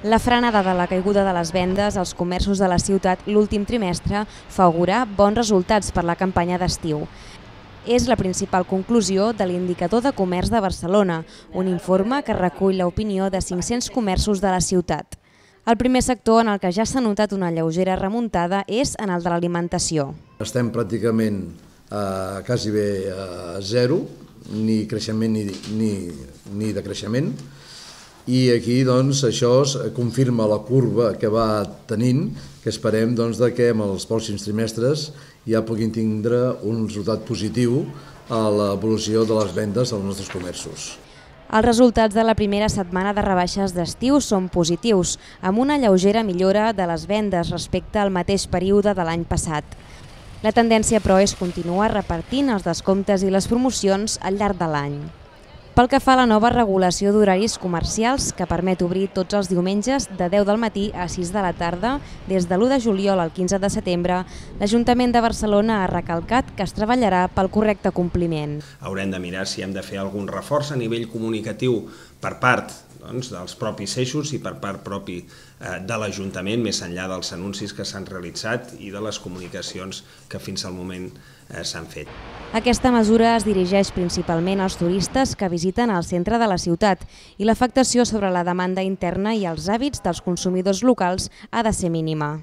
La frenada de la caiguda de les vendes als comerços de la ciutat l'últim trimestre fa augurar bons resultats per la campanya d'estiu. És la principal conclusió de l'Indicador de Comerç de Barcelona, un informe que recull l'opinió de 500 comerços de la ciutat. El primer sector en el que ja s'ha notat una lleugera remuntada és en el de l'alimentació. Estem pràcticament quasi bé a zero, ni creixement ni decreixement, i aquí doncs, això confirma la curva que va tenint, que esperem doncs, que en els pròxims trimestres ja puguin tindre un resultat positiu a l'evolució de les vendes als nostres comerços. Els resultats de la primera setmana de rebaixes d'estiu són positius, amb una lleugera millora de les vendes respecte al mateix període de l'any passat. La tendència, però, és continuar repartint els descomptes i les promocions al llarg de l'any. Pel que fa a la nova regulació d'horaris comercials, que permet obrir tots els diumenges de 10 del matí a 6 de la tarda, des de l'1 de juliol al 15 de setembre, l'Ajuntament de Barcelona ha recalcat que es treballarà pel correcte compliment. Haurem de mirar si hem de fer algun reforç a nivell comunicatiu per part dels propis eixos i per part propi de l'Ajuntament, més enllà dels anuncis que s'han realitzat i de les comunicacions que fins al moment s'han fet. Aquesta mesura es dirigeix principalment als turistes que visiten el centre de la ciutat i l'afectació sobre la demanda interna i els hàbits dels consumidors locals ha de ser mínima.